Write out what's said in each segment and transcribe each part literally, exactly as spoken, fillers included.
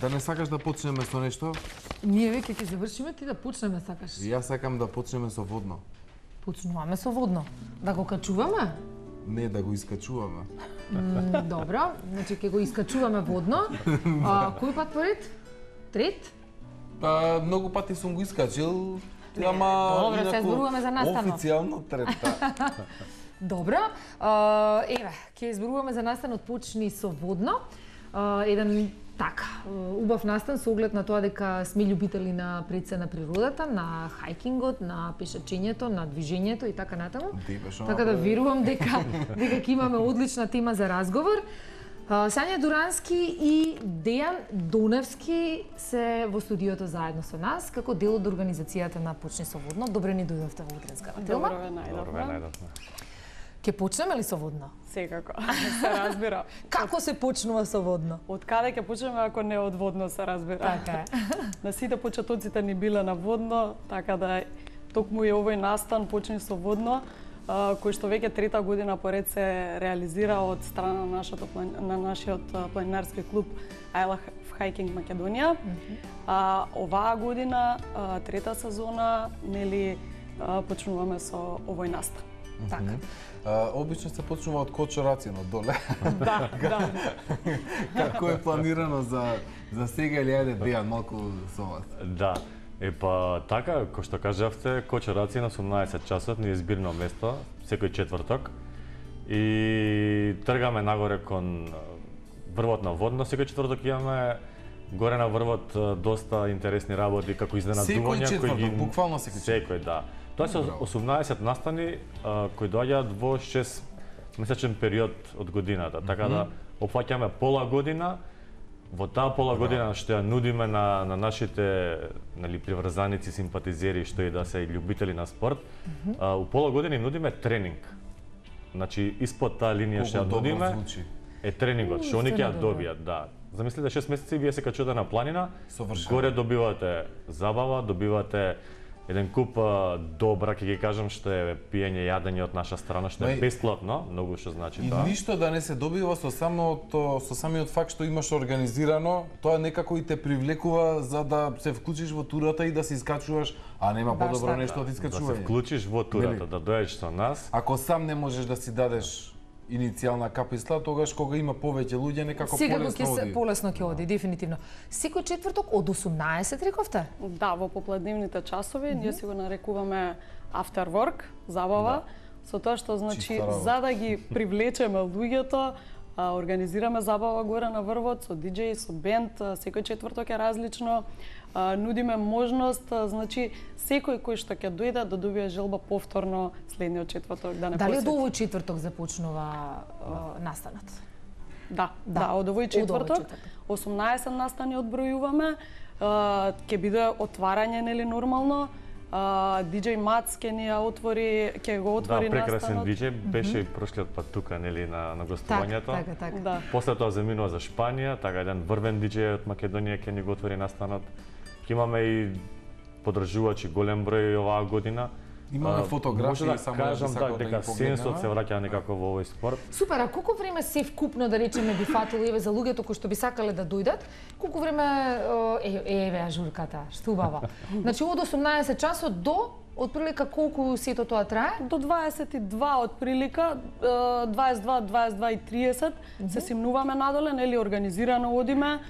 Да не сакаш да почнеме со нешто? Ние веќе ќе завршиме, ти да почнеме сакаш. Јас сакам да почнеме со водно. Почнуваме со водно. Да го качуваме? Не, да го искачуваме. М, добро, значи ќе го искачуваме водно. А, кој пат поред? Трет? Па, многу пати сум го искачил, Не, ама добро, се зборуваме за настанот. Официјално трета. Добро, а, еве, ќе изборуваме за настанот почни со водно. А, еден така, убав настан со оглед на тоа дека сме љубители на предсе на природата, на хајкингот, на пешачењето, на движењето и така натаму. Така да верувам дека дека ќе имаме одлична тема за разговор. Сања Дурански и Дејан Доневски се во студиото заедно со нас како дел од организацијата на Почни со водно. Добре ни дојдовте во утренската тема. Добро ве најдовме. Ќе почнеме ли со водно? Секако, се разбира. Како се почнува со водно? Од каде ќе почнеме ако не од водно, се разбира. Така е. На сите почетоците ни биле на водно, така да токму и овој настан Почни со водно, кој што веќе трета година поред се реализира од страна на нашето на нашиот планинарски клуб I Love Hiking Македонија. Mm -hmm. А оваа година, трета сезона, нели почнуваме со овој настан. Mm -hmm. Така. А, обично се почнува од кочорација на доле. Да, да. Како е планирано за за сега или ајде Дејан малку со вас? Да. Е па така, кој што кажавте, кочорација на осумнаесет часот ни е избирно место секој четврток и тргаме нагоре кон врвот на водно. Секој четврток имаме горе на врвот доста интересни работи како изненадувања кои ги буквално секој секој да. Тоа се осумнаесет настани а, кои доаѓаат во шест месечен период од годината, така да опфаќаме пола година. Во таа пола година што ја нудиме на на нашите нели приврзаници, симпатизери што и да се љубители на спорт, mm -hmm. а, у пола година им нудиме тренинг. Значи испод таа линија што ја нудиме е тренингот што они ќе ја добијат, да. Замислете шест месеци вие се качувате на планина, горе добивате забава, добивате еден куп а, добра, ќе ги кажам, што е пиење, јадење од наша страна, што е бесплатно, многу што значи и тоа. И ништо да не се добива со самото со самиот факт што имаш организирано, тоа некако и те привлекува за да се вклучиш во турата и да се искачуваш, а нема подобро нешто од искачување. Да се вклучиш во турата, да дојдеш со нас. Ако сам не можеш да си дадеш иницијална каписла, тогаш кога има повеќе луѓе некако полесно оди. Сега полесно ќе оди, дефинитивно. Секој четврток од осумнаесет рековте? Да, во попладнивните часови, mm -hmm. ние си го нарекуваме after work, забава, да. Со тоа што значи за да ги привлечеме луѓето, а, организираме забава горе на врвот со диџеј, со бенд, секој четврток е различно. А, нудиме можност, а, значи секој кој што ќе дојде да добие желба повторно следниот четврток да не Дали посети. од овој четврток започнува а, настанот? Да, да, да, од овој четврток, осумнаесет настани одбројуваме, а, ќе биде отварање нели нормално. Uh, диџеј Мац ќе ни ја отвори, ќе го отвори настанот. Да, прекрасен настанот. диџеј, беше и прошлиот пат тука нели на на гостувањето. Така, така, така. Да. После тоа заминува за Шпанија, така еден врвен диџеј од Македонија ќе ни го отвори настанот. Ќе имаме и подржувачи голем број оваа година. Имаме фотографии, да само кажам да, да, дека сенсот се враќа некако во овој спорт. Супер, а колку време се вкупно да речеме би фатило еве за луѓето кои што би сакале да дојдат? Колку време е, еве ажурката, што убава. Значи од осумнаесет часот до отприлика колку сето тоа трае? До дваесет и два отприлика, дваесет и два, дваесет и два и триесет mm -hmm. се симнуваме надоле, нели организирано одиме,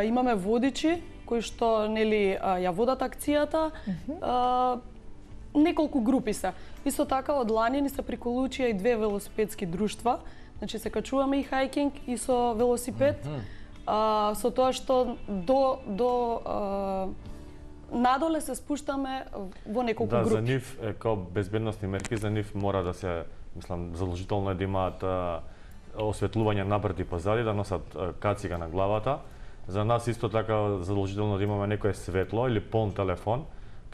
имаме водичи кои што нели ја водат акцијата. Mm -hmm. Неколку групи се. Исто така од лани ни се приколучија и две велосипедски друштва. Значи се качуваме и хајкинг и со велосипед. Mm -hmm. а, со тоа што до до а, надоле се спуштаме во неколку да, групи. Да, за нив е као безбедносни мерки, за нив мора да се, мислам, задолжително е да имаат а, осветлување напред и позади, да носат а, кацига на главата. За нас исто така задолжително да имаме некое светло или полн телефон,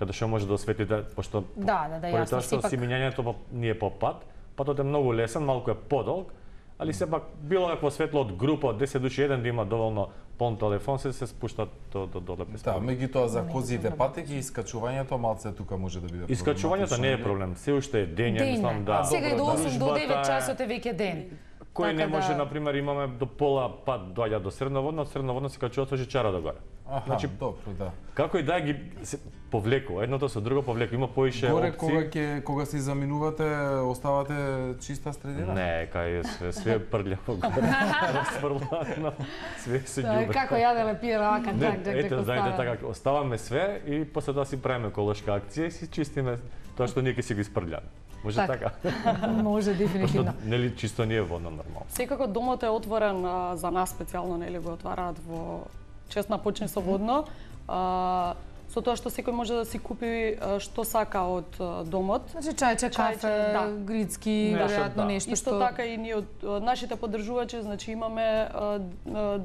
каде што може да осветите, пошто да, да, да, поради тоа што сепак... симињањето не е по пат, патот е многу лесен, малку е подолг, али сепак било какво светло од група од десет души, еден да има доволно полн телефон, се се спуштат до до доле без проблем. Да, меѓутоа за козите патеки искачувањето малце тука може да биде проблем. Искачувањето не е проблем, се уште е дење, мислам да. Сега и до осум до девет часот е веќе ден. Кој не Така може, да- на пример, имаме до пола пат доаѓа до средноводно, од средноводно се качува со жичара догоре. Аха, Значи, добро, да. Како и да е, ги се повлекува, едното со друго повлекува, има поише Горе опции. кога ќе кога си заминувате, оставате чиста средина? Не, кај е све, све прљаво горе, расфрлано, све се Да, ѓубе. како јаделе пиеле вака, Не, так, так, ете, так, знаете остава. така, оставаме све и после тоа си правиме еколошка акција и си чистиме тоа што ние ќе си го испрљаме. Може Така. така? Може дефинитивно. Пошто, нели, чисто не е водно нормално. Секако домот е отворен а, за нас специјално, нели го отвараат во чест на почни со водно. А, со тоа што секој може да си купи а, што сака од а, домот. Значи чајче, кафе, да. грицки, Нешто, веројатно да. нешто Исто што така и ние од а, нашите поддржувачи, значи имаме а, а,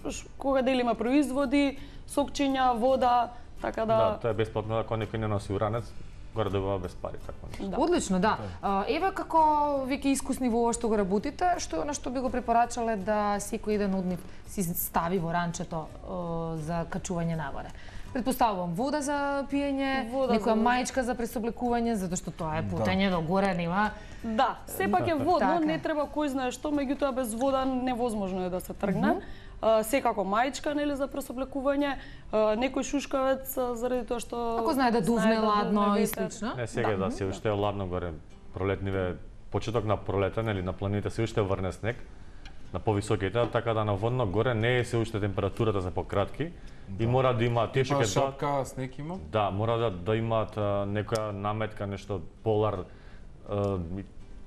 ш- кога делиме производи, сокчиња, вода, така Да, да, тоа е бесплатно, ако некој не носи уранец, горе добива без пари, така нешто. да. Одлично, да. А, Еве како веќе искусни во ова што го работите, што на што би го препорачале да секој еден од нив си стави во ранчето а, за качување нагоре. Предпоставувам вода за пиење, Вода некоја за- мајчка за пресоблекување, затоа што тоа е путење до горе, нема. Да, сепак е водно, Така. не треба кој знае што, меѓутоа без вода невозможно е да се тргне. А, секако мајчка, нели, за пресоблекување, а, некој шушкавец а, заради тоа што Ако знае да дувне да ладно дувне и ветер. слично. Не, сега да, се уште е ладно горе, пролетниве, почеток на пролета, нели, на планините се уште врне снег, на повисоките, така да на водно горе не е се уште температурата за пократки и мора да има тие што Има ќе доаѓаат- шапка, снег има? Да, мора да, да имаат а, некоја наметка, нешто полар, а,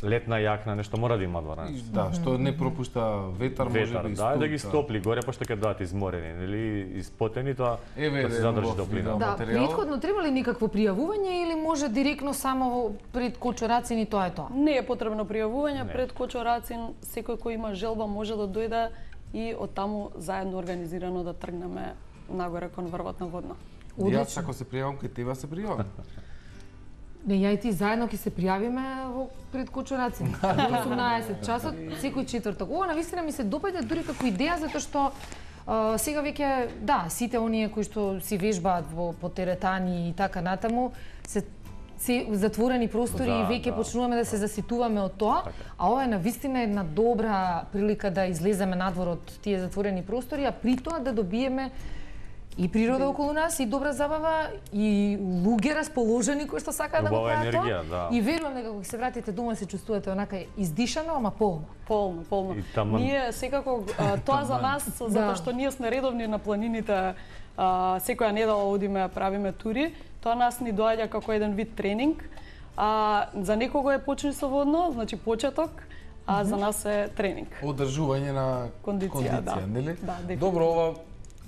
летна јакна, нешто мора да имаат во И, ранчето. да, што не пропушта ветар, може Ветар, би и да, студ, да ги стопли горе, пошто ќе доаат изморени, нели, испотени, тоа Еве, да се еден задржи убав топлина. видео. Да, материјал. претходно треба ли никакво пријавување или може директно само во- пред кочорацин и тоа е тоа? Не е потребно пријавување Не. пред Кочорацин, секој кој има желба може да дојде и од таму заедно организирано да тргнеме нагоре кон врвот на водно. Јас Одлично. ако се пријавам кај тебе се пријавам. Не, ја и ти заедно ќе се пријавиме во пред кочорацин. Во осумнаесет часот, секој четврток. Ова навистина ми се допаѓа дури како идеја затоа што а, сега веќе да, сите оние кои што си вежбаат во по теретани и така натаму се се затворени простори Да, и веќе да. почнуваме да се заситуваме од тоа, Така. а ова е навистина една добра прилика да излеземе надвор од тие затворени простори, а при тоа да добиеме и природа околу нас, и добра забава, и луѓе расположени кои што сакаат да го Убава прават енергија, тоа. да. И верувам дека кога се вратите дома се чувствувате онака издишано, ама полно. Полно, полно. И таман- Ние секако а, тоа за нас затоа Да. што ние сме редовни на планините, а, секоја недела одиме правиме тури, тоа нас ни доаѓа како еден вид тренинг. А за некого е почни со водно, значи почеток, а за нас е тренинг. Одржување на Кондиција, кондиција, да. нели? Да, дефинитивно. Добро, ова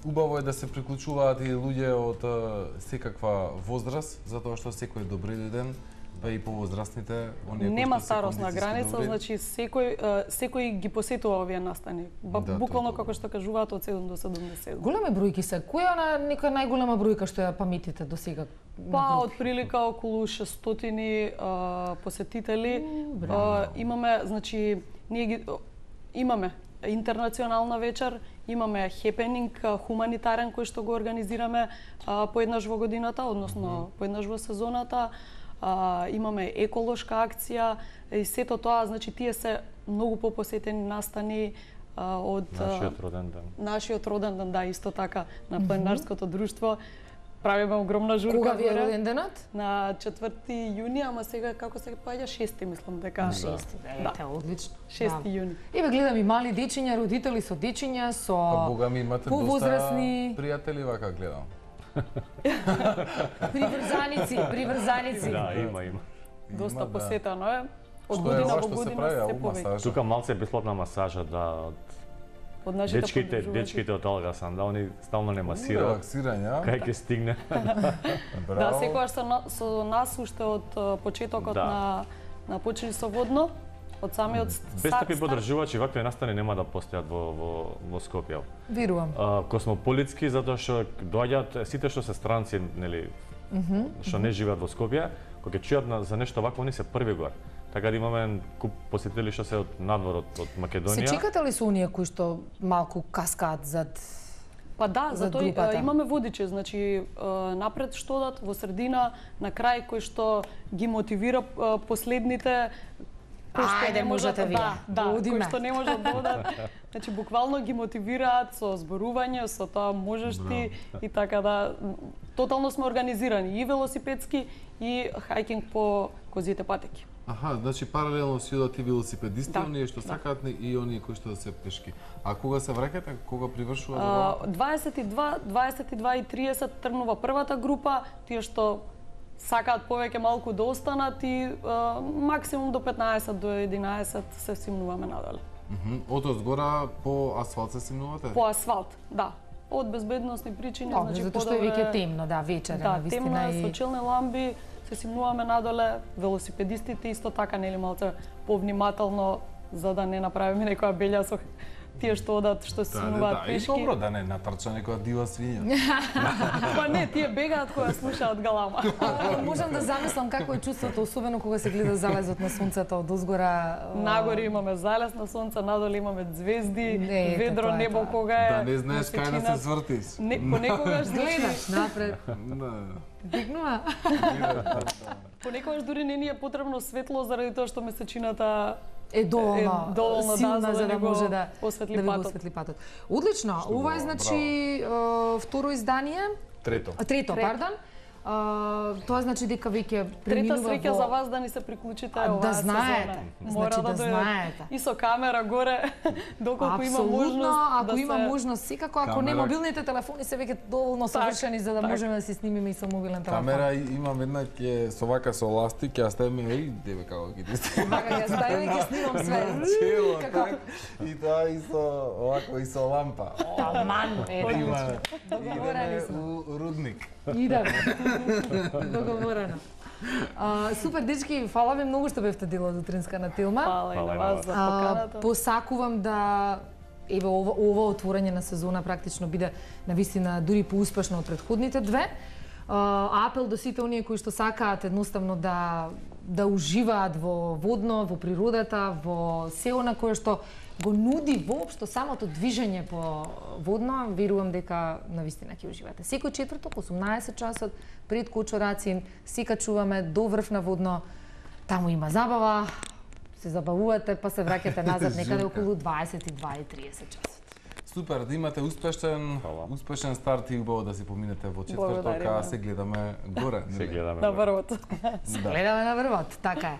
убаво е да се приклучуваат и луѓе од а, секаква возраст, затоа што секој е добри дојден, па и повозрастните, оние кои Нема што се старосна кондициски граница, добри. значи секој а, секој ги посетува овие настани. Ба, Да, тоа е буквално добро. како што кажуваат од седум до седумдесет. Големи бројки се. Која е она некоја најголема бројка што ја паметите до сега? Па, од прилика околу шестстотини а, посетители. А, имаме, значи, ние ги о, имаме интернационална вечер, имаме хепенинг а, хуманитарен кој што го организираме а, поеднаш во годината, односно поеднаш во сезоната. А, имаме еколошка акција и сето тоа, значи тие се многу попосетени настани а, од а, Нашиот роден ден. нашиот роден ден, да, исто така, на планинарското друштво. Правиме огромна журка Кога ви е горе. роден денот? На четврти јуни, ама сега како се паѓа шести, мислам дека. Шести, да, ете, одлично. шести Да. јуни. Еве гледам и мали дечиња, родители со дечиња, со Па бога ми имате доста повозрасни, пријатели вака гледам. приврзаници, приврзаници. Да, има, има. Доста Има, да. посетено е. Од Што е година ова во што се година прави, се а у повеќе. масажа? Тука малце е бесплатна масажа, да, од Од нашите дечките, поддржувачи. дечките од Алгасан, да, они стално не масираат. Релаксирање, а? Кај ќе стигне? Да, Браво. секогаш со, на- со нас уште од а, почетокот Да. на на почини со водно, од самиот Без такви старт. поддржувачи вакви настани нема да постојат во во во Скопје. Верувам. А, космополитски затоа што доаѓаат сите што се странци, нели, што не живеат во Скопје, кога ќе чујат на, за нешто вакво, они се први горе. Така да имаме куп посетители што се од надвор од, од Се Македонија. чекате ли со оние кои што малку каскаат зад Па да, за затоа и, групата. а, имаме водичи, значи а, напред што дат, во средина, на крај кој што ги мотивира а, последните кои што Ајде, не можат можете вие. да, да, кои Одиме. што не можат да одат. Значи буквално ги мотивираат со зборување, со тоа можеш ти и така да тотално сме организирани и велосипедски и хајкинг по козите патеки. Аха, значи паралелно си одат и велосипедисти, Да, оние што да. сакаат и оние кои што се пешки. А кога се враќате, кога привршува А, забавата? дваесет и два, дваесет и два и триесет тргнува првата група, тие што сакаат повеќе малку да останат и а, максимум до петнаесет до единаесет се симнуваме надале. Мгм. Од озгора по асфалт се симнувате? По асфалт, да. Од безбедносни причини, Добро, значи затоа што е подобро веќе темно, да, вечер, Да, на темно вистина е, со и челни ламби, се симнуваме надоле, велосипедистите исто така, нели малце повнимателно за да не направиме некоја белја со тие што одат, што се Да, да, симнуваат да, и пешки. добро да не натрча некоја дива свиња. Па не, тие бегаат кога слушаат галама. А, можам да замислам како е чувството, особено кога се гледа залезот на сонцето од озгора. Нагоре имаме залез на сонце, надоле имаме звезди, Не, ете, ведро тоа е небо тоа. кога е. Да не знаеш кај да месечина. се свртиш. Не, понекогаш Гледаш значи, напред, Да. дигнува. понекогаш дури не ни е потребно светло заради тоа што месечината Е доволно, Е доволно, да, силна за да за да ни го може да осветли да ви го патот. осветли патот. Одлично, ова е добро, значи е, второ издание, Трето. а, трето, Трето. пардон. А, тоа значи дека веќе Трета преминува среќа во... за вас да ни се приклучите А, да оваа знаете. сезона. Значи Мора да да дојдете. знаете. И со камера горе, доколку има Апсолутно, можност ако да има се... можност, секако, ако не Камера- мобилните телефони се веќе доволно совршени за да так. можеме да се снимиме и со мобилен телефон. Камера и- имам една ќе со вака со ластик, ќе ја ставиме и деве како ги дисте. Вака ја ставим и ќе снимам све. Цело Како- так. И тоа и со овако и со лампа. Таман, ете, Има. договорени Идеме сме. у рудник. Идеме. Договорено. А, супер, дечки, фала ви многу што бевте дел од утринска на Тилма. Фала и на Фала и на вас вас. за А, поканата. посакувам да еве ова, ова отворање на сезона практично биде навистина дури поуспешно од претходните две. А, апел до сите оние кои што сакаат едноставно да да уживаат во водно, во природата, во се она кое што го нуди воопшто самото движење по водно, верувам дека навистина ќе уживате. Секој четврток, осумнаесет часот, пред Кочорацин, се качуваме до врв на водно, таму има забава, се забавувате, па се враќате назад некаде околу дваесет и два и триесет часот. Супер, да имате успешен, Фала. успешен старт и убаво да си поминете во четврток, Благодариме. а се гледаме горе. Се нели? гледаме. На горе. врвот. Гледаме на врвот, така е.